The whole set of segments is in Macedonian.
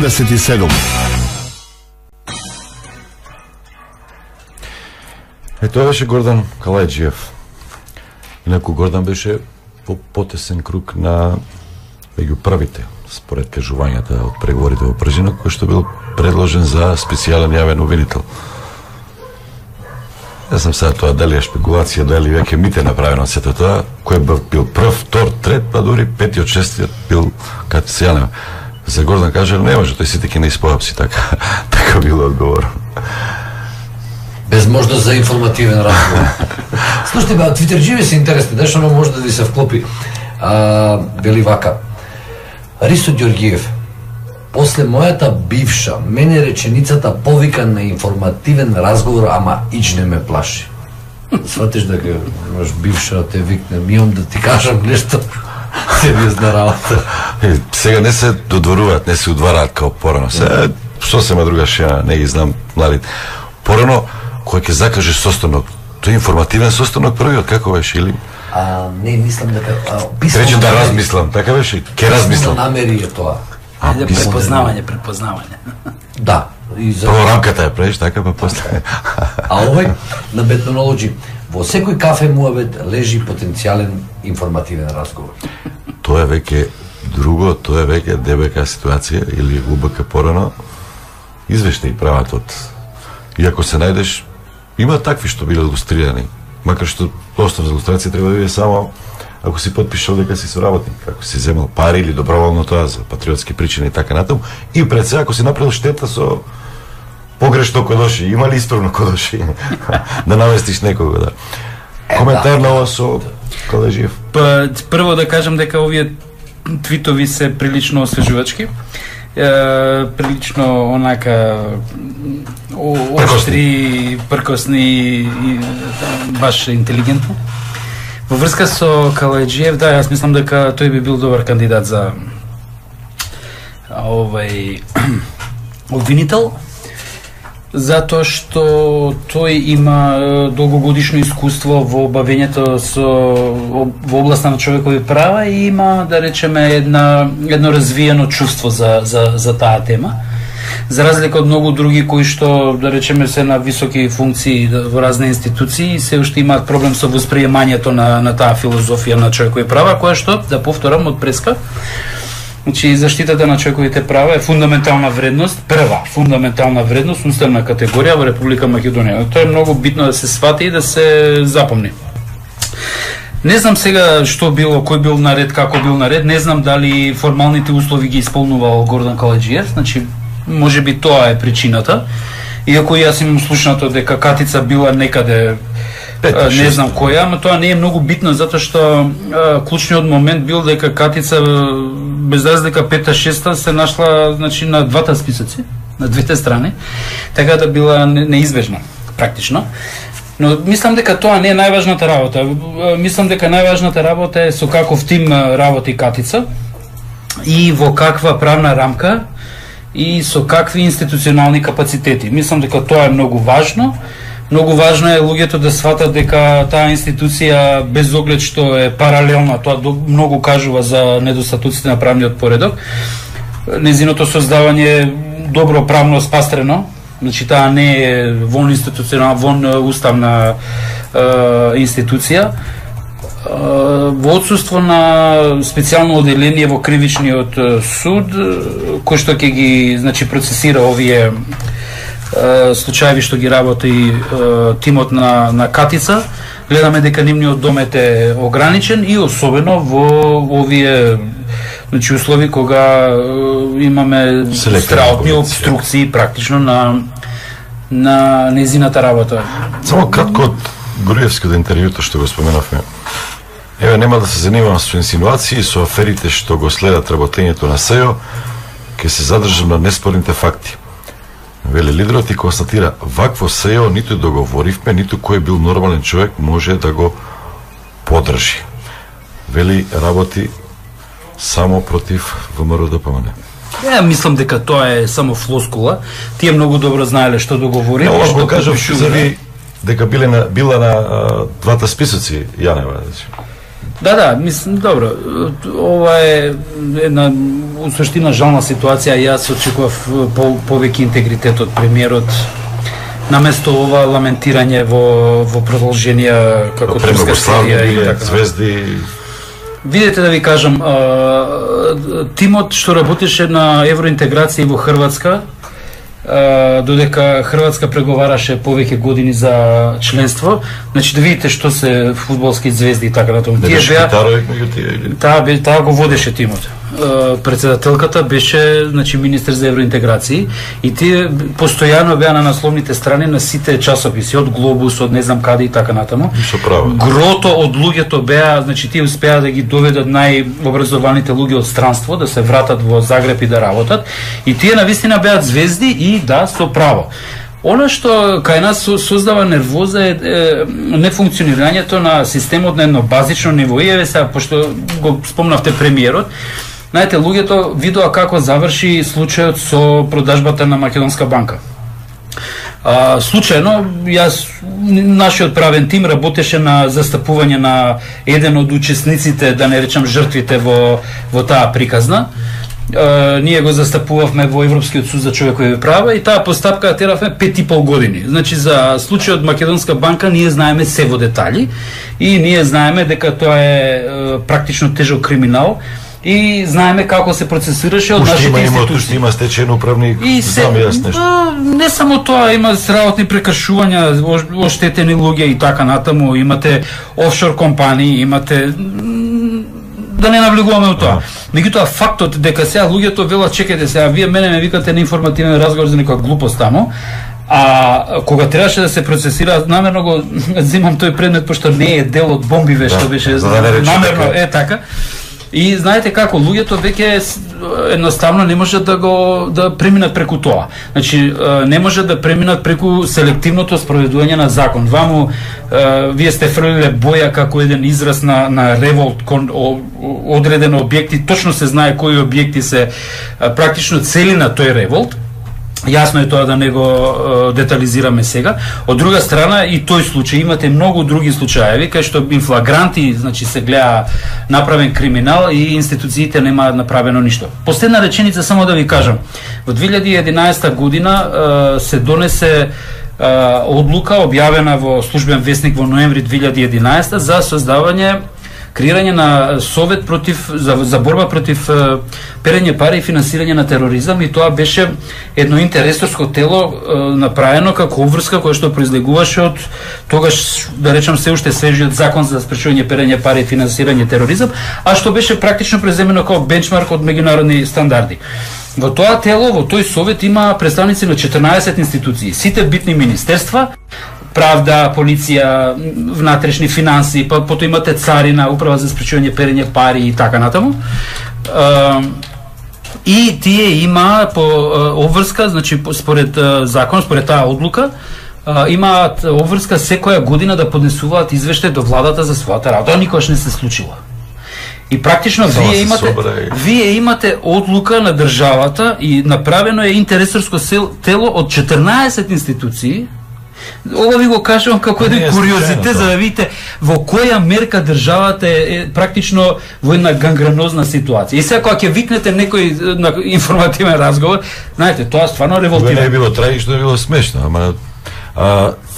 77. Тоа беше Гордан Калајджиев. Инаку Гордан беше по потесен круг на меѓу првите, според кажувањата од преговорите во Пржина, кој што бил предложен за специјален јавен обвинител. Јас сам сега тоа дали е шпекулација, дали веќе мите направено сето тоа, кој бил прв, втор, трет, па дури пети од шестиот бил кај се за Гордан кажа, не може, тој сите ќе не испоапси, така било одговор. Без можност за информативен разговор. Слушайте, твитерџиви се интересни, дешто може да ви се вклопи. Вели вака. Ристо Ѓоргиев, после мојата бивша, мене реченицата повика на информативен разговор, ама ич не ме плаши. Сватиш дека имаш бивша, те викне, имам да ти кажам нешто сериозна работа. Сега не се додворуваат, не се удвараат као порано. Сега, сосема друга шена, не ги знам младите. Порано, кој ќе закаже состанок, тој е информативен состанок првиот, како беше, или? Не, мислам дека... Рече да размислам, така беше? Ке размислам. Намери е тоа. Препознавање. Да. Прво рамката ја правиш, така, па после. А овој, на Бетнонолоджи, во секој кафе муабет лежи потенцијален информативен разговор. Тоа е веќе друго, тоа е веќе ДБК ситуација, или УБК порано, извештај прават од... Иако се најдеш, има такви што биле илустрирани, макар што основа за илустрација треба да биде само ако си потпишал дека си соработник, ако си земал пари или доброволно тоа за патриотски причини и така натаму, и пред се ако си направил штета со погрешно кодоши, има ли исправно кодоши, да навестиш некого, да. Коментар на ова со Калајджиев. Па, прво да кажам дека овие твитови се прилично освежувачки. Прилично онака оштри, пркосни и баш интелигентно. Во врска со Калајджиев, да, јас мислам дека тој би бил добар кандидат за обвинител, затоа што тој има долгогодишно искуство во бавењето во областа на човекови права и има, да речеме, едно развиено чувство за таа тема. За разлика од многу други кои што, да речеме, се на високи функции во разни институции, се уште имаат проблем со восприемањето на таа филозофија на човекови права, која што, да повторам од преска, значи, заштитата на човековите права е фундаментална вредност, прва фундаментална вредност, уставна категорија во Република Македонија. Тоа е многу битно да се свати и да се запомни. Не знам сега што било, кој бил наред, како бил наред, не знам дали формалните услови ги исполнувал Гордан Калајджиев, значи, може би тоа е причината. Иако јас имам слушнато дека Катица била некаде, не знам која, ама тоа не е многу битно, затоа што клучниот момент бил дека Катица, без разлика 5-6 се нашла, значи, на двата списоци, на двете страни, така да била неизбежна, практично. Но мислам дека тоа не е најважната работа. Мислам дека најважната работа е со каков тим работи Катица и во каква правна рамка и со какви институционални капацитети. Мислам дека тоа е многу важно. Многу важно е луѓето да сватат дека таа институција, без оглед што е паралелна, тоа многу кажува за недостатоците на правниот поредок. Незиното создавање е добро правно спастрено, значи таа не е вон уставна институција. Во отсуство на специјално оделение во кривичниот суд, кој што ќе ги, значи, процесира овие случаеви што ги работи тимот на Катица, гледаме дека нивниот домет е ограничен и особено во овие, значи, услови кога имаме страутни обструкции практично на незината работа. Само кратко од Груевското интервјуто што го споменавме. Еве, нема да се занимавам со инсинуации, со аферите што го следат работењето на СЕО, ќе се задржам на неспорните факти. Вели лидерот и констатира, вакво СЕО ниту договоривме, ниту кој бил нормален човек може да го подржи. Вели работи само против ВМРО ДПМН. Мислам дека тоа е само флоскула. Тие многу добро знаеле што договори. Што го кажам за ви дека била на двата списоци Јанева. Да, мислам, добро. Ова е една у суштина жална ситуација. Јас очекував повеќе интегритет од премиерот. Наместо ова ламентирање во продолженија како турска серија и така. Звезди. Видете да ви кажам, тимот што работеше на евроинтеграција во Хрватска, додека Хрватска преговараше повеќе години за членство, значи да видите што се фудбалски звезди и така натаму. Тие беа таа го водеше тимот. Председателката беше, значи, министер за евроинтеграција и тие постојано беа на насловните страни на сите часописи, од Глобус, од не знам каде и така натаму. Грото од луѓето беа, значи тие успеа да ги доведат најобразованите луѓе од странство да се вратат во Загреб и да работат, и тие навистина беа звезди и да, со право. Она што кај нас создава нервоза е нефункционирањето на системот на едно базично ниво. И еве сега, пошто го спомнавте премиерот, знаете, луѓето видоа како заврши случајот со продажбата на Македонска банка. Случајно, нашиот правен тим работеше на застапување на еден од учесниците, да не речам жртвите во таа приказна. Ние го застапувавме во Европскиот суд за човекови права и таа постапка ја теравме 5,5 години. Значи за случајот Македонска банка ние знаеме се во детали и ние знаеме дека тоа е практично тежок криминал и знаеме како се процесираше од нашите институции. Има стечен управник, знам јас нешто. Не само тоа, има сработни прекршувања, оштетени луѓе и така натаму, имате офшор компании, имате, да не навлегуваме во тоа. Меѓутоа фактот дека сега луѓето велат, чекајте сега, вие мене ме викате на информативен разговор за некоја глупост таму, а кога требаше да се процесира, намерно го земам тој предмет пошто не е дел од бомбиве, што беше намерно така. И знаете како, луѓето веќе едноставно не можат да преминат преку тоа. Значи, не можат да преминат преку селективното спроведување на закон. Ваму, вие сте фрлиле боја како еден израз на револт кон одреден објекти, точно се знае кои објекти се практично цели на тој револт. Јасно е тоа да не го детализираме сега. Од друга страна, и тој случај, имате многу други случаеви кај што инфлагранти, значи се гледа направен криминал и институциите немаат направено ништо. Последна реченица само да ви кажам. Во 2011 година се донесе одлука објавена во службен весник во ноември 2011 за создавање, креирање на совет за борба против перење пари и финансирање на тероризам, и тоа беше едно интересорско тело направено како обврска која што произлегуваше од тогаш, да речам, се уште свежиот закон за спречување перење пари и финансирање тероризам, а што беше практично преземено како бенчмарк од меѓународни стандарди. Во тоа тело, во тој совет има представници на 14 институции, сите битни министерства, правда, полиција, внатрешни финанси, потоа имате царина, управа за спречување перење пари и така натаму. И тие има по обврска, значи според закон, според таа одлука, имаат обврска секоја година да поднесуваат извештај до владата за својата работа. Никогаш не се случило. И практично вие имате одлука на државата и направено е интересорско тело од 14 институции. Ова ви го кажувам како еден куриозитет за да видите во која мерка државата е практично во една гангренозна ситуација. И сега кога ќе викнете некој на информативен разговор, знаете, тоа стварно револтира. Не е било трагично, е било смешно, ама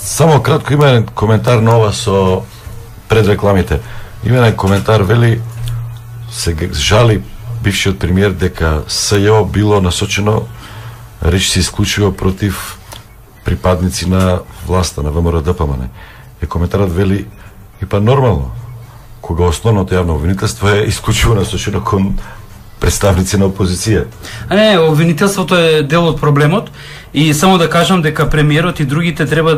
само кратко има еден коментар на ова со предрекламите. Има еден коментар, вели, се жали бившиот премиер дека СЈО било насочено речиси исклучиво против припадници на власта, на ВМРО-ДПМН. И коментарот вели, и па нормално, кога основното јавно обвинителство е исклучиво насочено кон представници на опозиција. Не, обвинителството е дел од проблемот и само да кажам дека премиерот и другите треба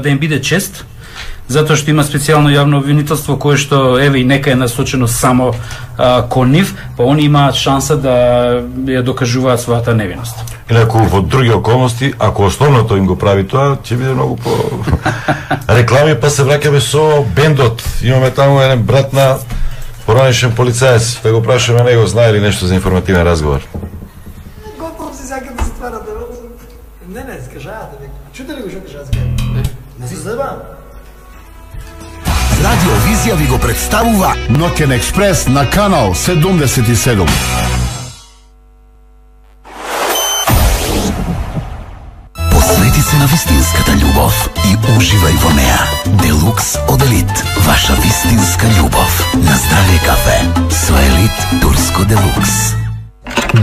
да им биде чест, затоа што има специјално јавно обвинителство кое што еве и нека е насочено само кон нив, па они имаат шанса да ја докажуваат својата невиност. Инаку во други околности, ако основното им го прави тоа, ќе биде многу по реклами, па се враќаме со бендот. Имаме таму еден брат на поранешен полицаец, да го прашаме него, знае ли нешто за информативен разговор. Готово си сака да затвара да... Не, скажаат, чуте ли го што кажаат? Не се забавам. Радиовизија ви го представува Ноќен експрес на канал 77. на вистинската љубов и уживај во неа. Делукс од Елит, ваша вистинска љубов. На здравје кафе со Елит Турско Делукс.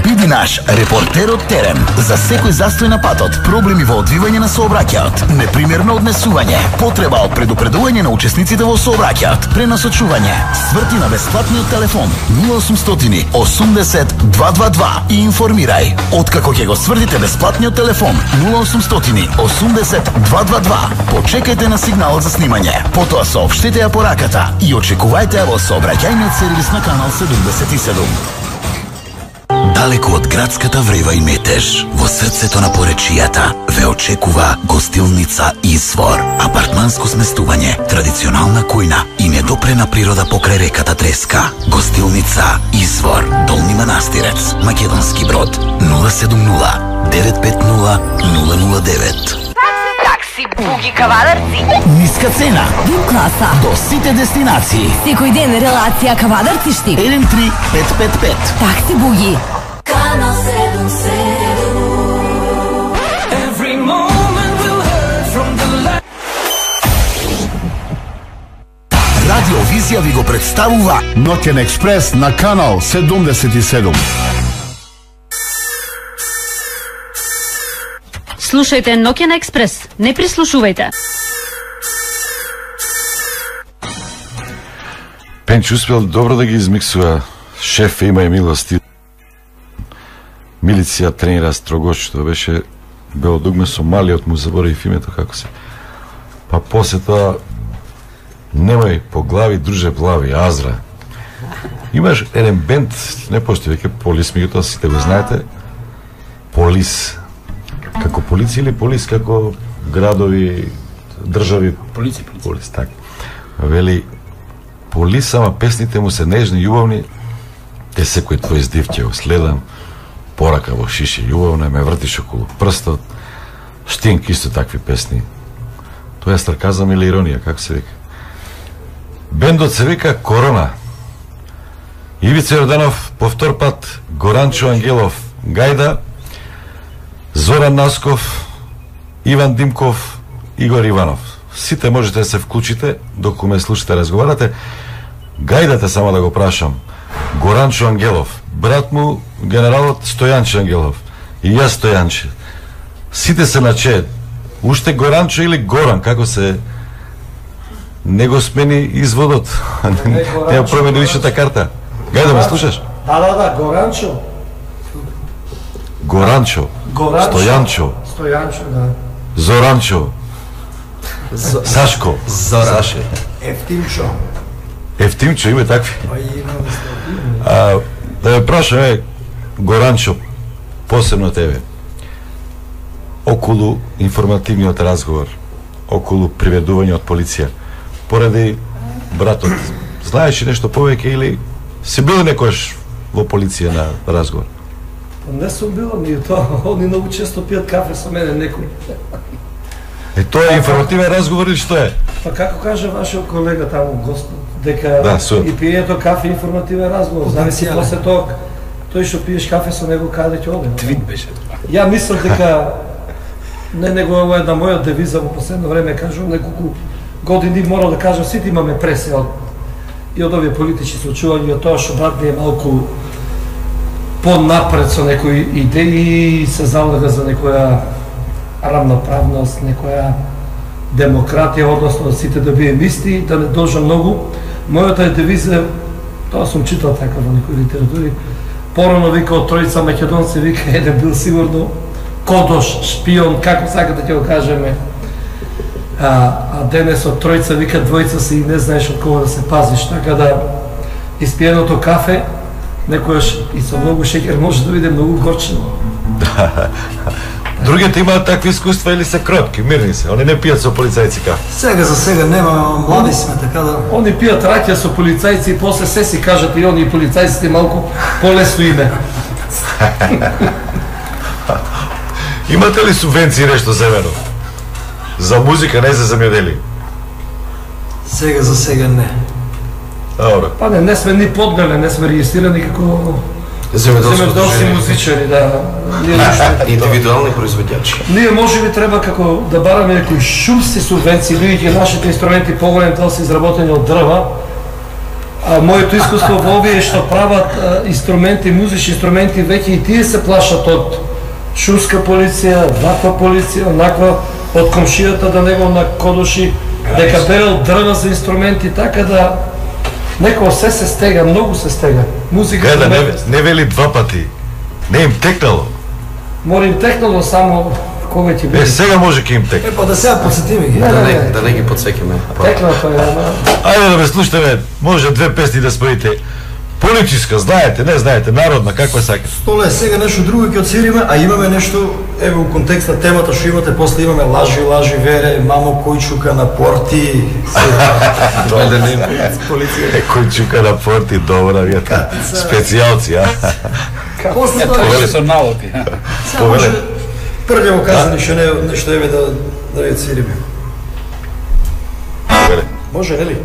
Биди наш репортер од терен за секој застој на патот, проблеми во одвивање на сообраќајот, непримерно однесување, потреба од предупредување на учесниците во сообраќајот, пренасочување. Сврти на бесплатниот телефон 0800 80 222 и информирај. Откако ќе го свртите бесплатниот телефон 0800 80 222, почекајте на сигналот за снимање. Потоа соопштете ја пораката и очекувајте ја во сообраќајниот сервис на канал 77. Далеко од градската врева и метеж, во срцето на поречијата, ве очекува гостилница Извор. Апартманско сместување, традиционална кујна и недопрена природа покрај реката Треска. Гостилница Извор, Долни Манастирец, Македонски Брод, 070 950 009. Такси Буги Кавадарци. Ниска цена. Вип класа. До сите дестинации. Секој ден релација Кавадарци штип. 13555. Такси Буги. Канал 77. Every moment will hurt from the light. Радиовизија ви го представува Ноќен експрес на канал 77. Слушајте Ноќен експрес, не прислушувајте. Пенч успел добро да ги измиксува. Шеф има и милости. Милиција тренира строгош, што беше бело дугме со малиот, му заборив името како се. Па после тоа немај по глави, друже плави, Азра. Имаш еден бенд, не постои веќе Полис, меѓутоа сите го знаете. Полис. Како полиција или Полис како градови, држави? Полис, така. Вели, Полис, ама песните му се нежни, љубовни, те секој твој здив ќе го следам, порака во шише љубовна, ме вртиш околу прстот, Штинк исто такви песни. Тоа е сарказам или иронија, како се вика. Бендот се вика Корона. Ивица Јорданов повтор пат, Горанчо Ангелов гајда, Зоран Насков, Иван Димков, Игор Иванов. Сите можете да се вклучите, доколку ме слушате, разговарате. Гајдате, само да го прашам, Горанчо Ангелов, брат му генералот Стојанче Ангелов и јас Стојанче. Сите се на че, уште Горанчо или Горан, како се не го смени изводот. Не промени личната карта. Гајда ме слушаш? Да, Горанчо. Горанчо. Стојанчо. Стојанчо, да. Зоранчо. Сашко. Саше. Ефтимчо, има такви. Да ме прашаме, Горанчо, посебно тебе, околу информативниот разговор, околу приведување од полиција, поради братот, знаеш ли нешто повеќе или си бил некојаш во полиција на разговор? Не сум бил, ни тоа, они многу често пијат кафе со мене некој. Тоа е информативен разговор или што е? Па како каже вашиот колега таму, Господ, дека и пијето кафе информативен разговор, зависи после тоа, тој што пиеш кафе со него каде ќе оде. Твит беше. Ја мислам дека не него е една моја девиза во последно време, кажувам неколку години морал да кажам, сите имаме пресија и од овие политички случувања, од тоа што брат ми е малку понапред со некои идеи и се залага за некоја равноправност, некоја демократија, односно сите да бием исти, да не должам многу. Мојата девиза, тоа сум читал така во некои литератури, порано вика од тројца македонци, вика еден бил сигурно кодош, шпион, како сакате ќе го кажеме. А денес од тројца вика двојца си и не знаеш од кого да се пазиш, така да испиеното кафе некојаш и со многу шеќер може да биде многу горчиво. Другите имаат такви искуства или се кротки, мирни се, они не пијат со полицајци кафе. Сега за сега нема, млади сме, така да... Они пијат раќа со полицајци и после се си кажат и они и полицајците малку полесно име. Имате ли субвенции нешто земено? За музика, не за земјодели? Сега за сега не. Добро. Па не сме ни подгале, не сме регистрирани како земјоделски музичари, да. Индивидуални производјачи. Ние може би треба како да бараме некои шумски субвенции, бидејќи нашите инструменти поголем дел се изработени од дрва. А моето искуство во овие што прават инструменти, музични инструменти, веќе и тие се плашат од шумска полиција, ваква полиција, онаква, од комшијата да него накодоши дека берел дрва за инструменти, така да некој се стега, многу се стега. Музика да не вели два пати. Не им текнало. Мора им текнало само кога ќе биде. Сега може ќе им текне. Па да сега подсетиме ги. Да не ги подсекиме. Текнало е. Ајде да ме слушаме, може две песни да споите. Политичка, знаете, не знаете, народна, каква сакате? Столе, сега нешто друго ќе отсириме, а имаме нешто, еве, у контекст на темата што имате, после имаме лажи, вере, мамо Којчука на порти. Којчука на порти, добра, вјата. Специјалци, а? После тоа со налоги. Може прво казани нешто еве да ја отсириме. Може, нели?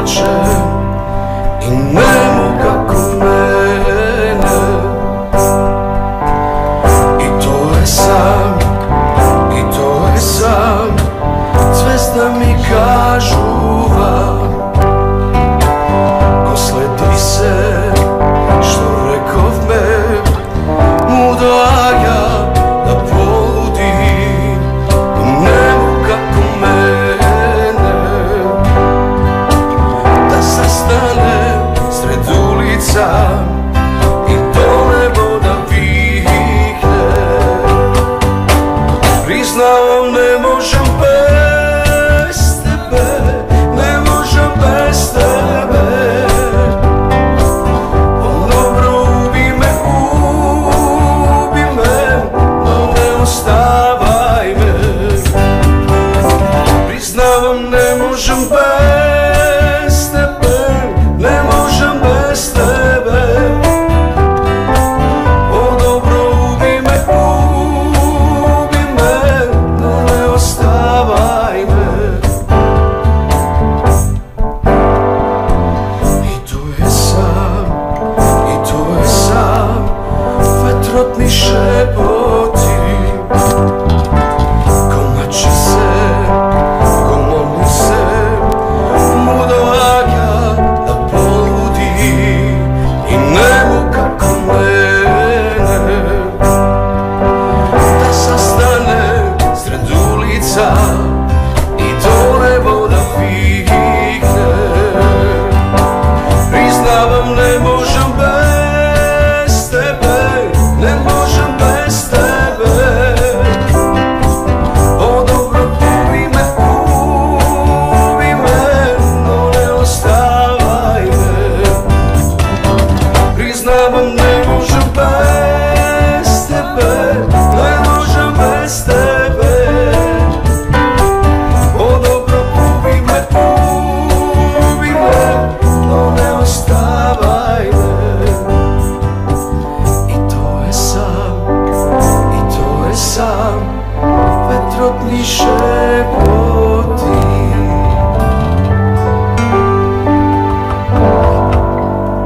plače i nemo kako mene. I to je sam, i to je sam, zvezda mi kažuva. Ko sledi se, što rekov me, mu doaja da poludi. Nemo kako mene, da zastane sred ulica